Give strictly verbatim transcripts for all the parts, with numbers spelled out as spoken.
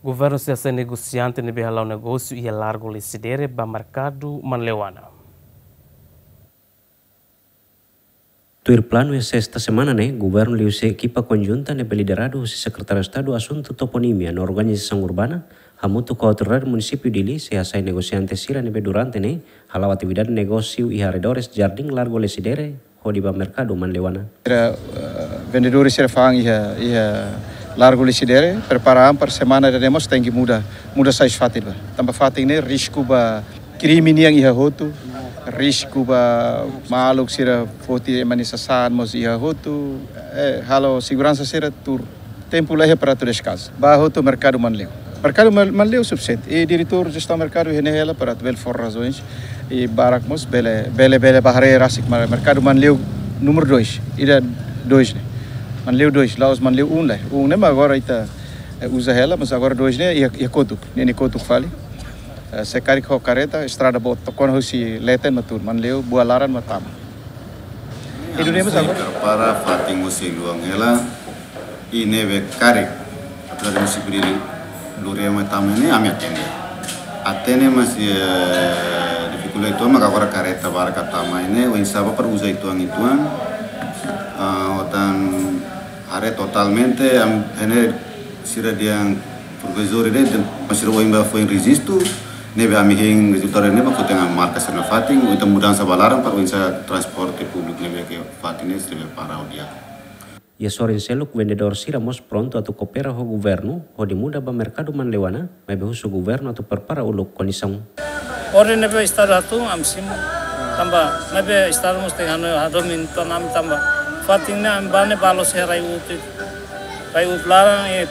Governu sei hasai negosiante ne'ebé hala'o negósiu iha Largo Lecidere ba merkadu Manleuana. Tuir planu iha sesta semana ne'e, governu liuhusi ekipa konjunta ne'ebé lideradu husi Sekretáriu Estadu Asuntu Toponímia no Organizasaun Urbana, hamutuk ho Autoridade Munisípiu Dili, sei hasai negosiante sira ne'ebé durante ne'e hala'o atividade negósiu iha arredores Jardín Largo Lecidere, hodi ba merkadu Manleuana. Sira, eh, vendedores sira fa'an iha, iha Largo Lecidere, prepara an para semana ida-ne'e mós tenke muda, muda sai husi fatin ba. Tanba fatin ne'e risku ba krime nian iha hotu, risku ba maluk sira foti ema nia sasán mós iha hotu, eh, halo seguransa sira tuur tempu laiha para atu deskaza. Ba hotu merkadu Manleu. Merkadu Man-, Manleu sufisiente. I diretór jestaun merkadu iha ne'e hela para atu bele fó razaun. I barak mós bele, bele, bele ba haree rasik, ma-, merkadu Manleu númeru dois. Ida dois ne'e. Manleu dois, la'ós Manleu um ne'e. Um ne'e mak agora ita, eh, uza hela, mas agora dois ne'e iha, iha kotuk. Ne'e, ne'e kotuk fali. Eh, se karik ho kareta, estrada boot, tokona husi leten mak tuur, Manleu, Bualaran mak tama. I duni mós agora. Para fatin mós sei luan hela, i ne'ebé karik, apesar de munisípiu Dili lori ema tama ne'e, ami atende. Atende, mas, eh, difikuldade uitoan, maka agora kareta barak tama ne'e, oinsá ba para uza uitoan, uitoan. Ah, otan haree totalmente, am, ne'e sira dehan provizóriu de'it, mas sira ohin ba foin rejistu, ne'ebé ami hein rezultadu ne'e ba foti ona marka sira-nia fatin, entaun mudansa ba laran para oinsá transporte públiku ne'ebé ke fatin ne'e sira para odia. Iha sorin seluk vendedór sira mós prontu atu koopera ho governu, hodi muda ba merkadu Manleuana, maibé husu governu atu prepara uluk kondisaun. Orden ne'ebé Estadu hatún ami simu, tanba maibé Estadu mós tenke hanoin hadomi uitoan ami tanba fatin ne'e ami ba ne'e ba loos iha rai-uut, rai-uut laran, i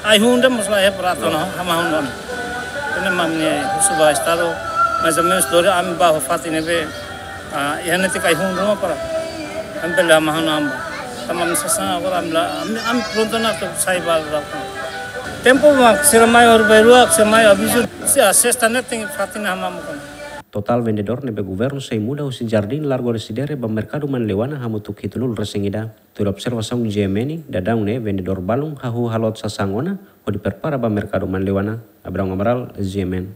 ai-hun de'it mós laiha para atu hama-hun ona. Ne'e mak ami husu ba Estadu, mais ou menus dori ami ba ho fatin ne'ebé, ah, iha netik ai-hun ruma para ami bele hama-hun ami ba. Tanba ami sasán agora ami la, ami, ami prontu ona atu sai ba la. Tempu mak sira mai orbelua, sira mai avizu, se a sesta ne'e tenke fatin ne'e hama-hun ona. Totál vendedór ne'ebé governu sei muda husi Jardín Largo Lecidere ba merkadu Manleuana hamutuk hitunulu resin ida. Tuir observasaun G M N, daudaun ne'e vendedór balun hahú haloot sasán ona, hodi prepara ba merkadu Manleuana. Abrão Amaral, G M N.